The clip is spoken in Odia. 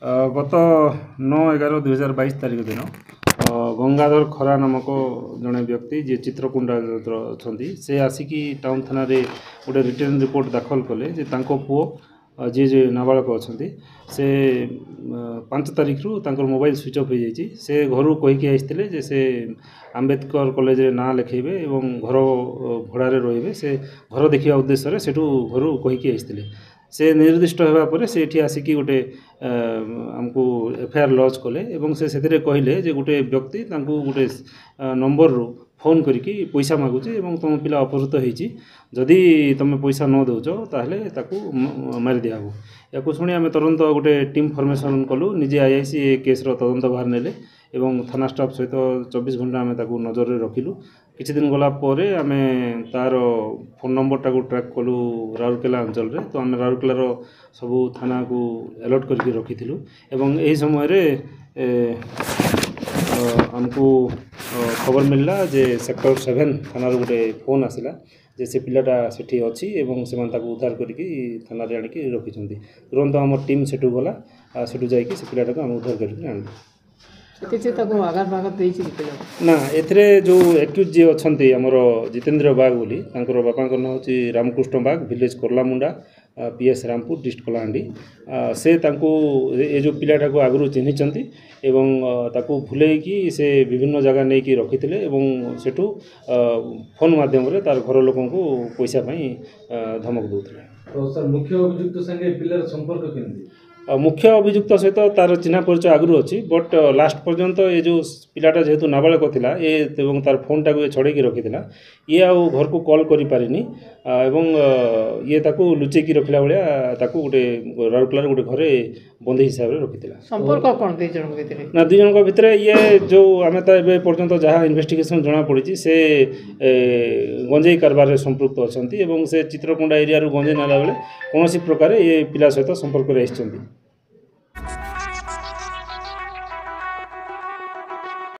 ଗତ 9/11/2022 ତାରିଖ ଦିନ ଗଙ୍ଗାଧର ଖରା ନାମକ ଜଣେ ବ୍ୟକ୍ତି, ଯିଏ ଚିତ୍ରକୁଣ୍ଡା ଅଛନ୍ତି, ସେ ଆସିକି ଟାଉନ୍ ଥାନାରେ ଗୋଟେ ରିଟେନ୍ ରିପୋର୍ଟ ଦାଖଲ କଲେ ଯେ ତାଙ୍କ ପୁଅ ଯିଏ ଯିଏ ନାବାଳକ ଅଛନ୍ତି, ସେ 5 ତାରିଖରୁ ତାଙ୍କର ମୋବାଇଲ ସୁଇଚ୍ ଅଫ୍ ହୋଇଯାଇଛି। ସେ ଘରୁ କହିକି ଆସିଥିଲେ ଯେ ସେ ଆମ୍ବେଦକର କଲେଜରେ ନାଁ ଲେଖାଇବେ ଏବଂ ଘର ଭଡ଼ାରେ ରହିବେ। ସେ ଘର ଦେଖିବା ଉଦ୍ଦେଶ୍ୟରେ ସେଠୁ ଘରୁ କହିକି ଆସିଥିଲେ। ସେ ନିର୍ଦ୍ଦିଷ୍ଟ ହେବା ପରେ ସେ ଏଠି ଆସିକି ଗୋଟେ ଆମକୁ ଏଫଆଇଆର୍ ଲଜ୍ କଲେ ଏବଂ ସେ ସେଥିରେ କହିଲେ ଯେ ଗୋଟେ ବ୍ୟକ୍ତି ତାଙ୍କୁ ଗୋଟେ ନମ୍ବରରୁ ଫୋନ୍ କରିକି ପଇସା ମାଗୁଛି ଏବଂ ତୁମ ପିଲା ଅପହୃତ ହେଇଛି, ଯଦି ତୁମେ ପଇସା ନ ଦେଉଛ ତାହେଲେ ତାକୁ ମାରି ଦିଆହେବ। ୟାକୁ ଶୁଣି ଆମେ ତୁରନ୍ତ ଗୋଟେ ଟିମ୍ ଫର୍ମେସନ୍ କଲୁ। ନିଜେ ଆଇଆଇସି ଏ କେସ୍ର ତଦନ୍ତ ଭାର ନେଲେ ଏବଂ ଥାନା ଷ୍ଟାଫ୍ ସହିତ 24 ଘଣ୍ଟା ଆମେ ତାକୁ ନଜରରେ ରଖିଲୁ। କିଛି ଦିନ ଗଲା ପରେ ଆମେ ତା'ର ଫୋନ୍ ନମ୍ବରଟାକୁ ଟ୍ରାକ୍ କଲୁ ରାଉରକେଲା ଅଞ୍ଚଳରେ। ତ ଆମେ ରାଉରକେଲାର ସବୁ ଥାନାକୁ ଆଲର୍ଟ କରିକି ରଖିଥିଲୁ ଏବଂ ଏହି ସମୟରେ ଆମକୁ ଖବର ମିଳିଲା ଯେ ସେକ୍ଟର 7 ଥାନାରୁ ଗୋଟେ ଫୋନ୍ ଆସିଲା ଯେ ସେ ପିଲାଟା ସେଠି ଅଛି ଏବଂ ସେମାନେ ତାକୁ ଉଦ୍ଧାର କରିକି ଥାନାରେ ଆଣିକି ରଖିଛନ୍ତି। ତୁରନ୍ତ ଆମ ଟିମ୍ ସେଠୁ ଗଲା, ସେଠୁ ଯାଇକି ସେ ପିଲାଟାକୁ ଆମେ ଉଦ୍ଧାର କରିକି ଆଣିଲୁ। କିଛି ତାକୁ ଆଘାତ ଫାଘାତ ଦେଇଛି କି ପିଲାକୁ? ନା, ଏଥିରେ ଯେଉଁ ଆକ୍ୟୁଜ୍ ଯିଏ ଅଛନ୍ତି ଆମର ଜିତେନ୍ଦ୍ର ବାଗ ବୋଲି, ତାଙ୍କର ବାପାଙ୍କ ନାଁ ହେଉଛି Ramakrishna Bag, village Karlamunda, PS Rampur, district Kalahandi. ସେ ତାଙ୍କୁ ଏ ଯେଉଁ ପିଲାଟାକୁ ଆଗରୁ ଚିହ୍ନିଛନ୍ତି ଏବଂ ତାକୁ ଭୁଲେଇକି ସେ ବିଭିନ୍ନ ଜାଗା ନେଇକି ରଖିଥିଲେ ଏବଂ ସେଠୁ ଫୋନ୍ ମାଧ୍ୟମରେ ତାର ଘର ଲୋକଙ୍କୁ ପଇସା ପାଇଁ ଧମକ ଦେଉଥିଲେ। ତ ସାର୍, ମୁଖ୍ୟ ଅଭିଯୁକ୍ତ ସାଙ୍ଗେ ପିଲାର ସମ୍ପର୍କ କେମିତି? ମୁଖ୍ୟ ଅଭିଯୁକ୍ତ ସହିତ ତାର ଚିହ୍ନା ପରିଚୟ ଆଗରୁ ଅଛି, ବଟ୍ ଲାଷ୍ଟ ପର୍ଯ୍ୟନ୍ତ ଏ ଯେଉଁ ପିଲାଟା ଯେହେତୁ ନାବାଳକ ଥିଲା ଏ ଏବଂ ତାର ଫୋନ୍ଟାକୁ ଏ ଛଡ଼େଇକି ରଖିଥିଲା, ଇଏ ଆଉ ଘରକୁ କଲ୍ କରିପାରିନି ଏବଂ ଇଏ ତାକୁ ଲୁଚେଇକି ରଖିଲା ଭଳିଆ ତାକୁ ଗୋଟେ ରାଉରକେଲାର ଗୋଟେ ଘରେ ବନ୍ଦୀ ହିସାବରେ ରଖିଥିଲା। ସମ୍ପର୍କ କ'ଣ ଦୁଇ ଜଣଙ୍କ ଭିତରେ? ନା, ଦୁଇ ଜଣଙ୍କ ଭିତରେ ଇଏ ଯେଉଁ ଆମେ ତ ଏବେ ପର୍ଯ୍ୟନ୍ତ ଯାହା ଇନଭେଷ୍ଟିଗେସନ୍ ଜଣାପଡ଼ିଛି, ସେ ଗଞ୍ଜେଇ କାରବାରରେ ସମ୍ପୃକ୍ତ ଅଛନ୍ତି ଏବଂ ସେ ଚିତ୍ରକୋଣ୍ଡା ଏରିଆରୁ ଗଞ୍ଜେଇ ନେଲା ବେଳେ କୌଣସି ପ୍ରକାରେ ଏ ପିଲା ସହିତ ସମ୍ପର୍କରେ ଆସିଛନ୍ତି।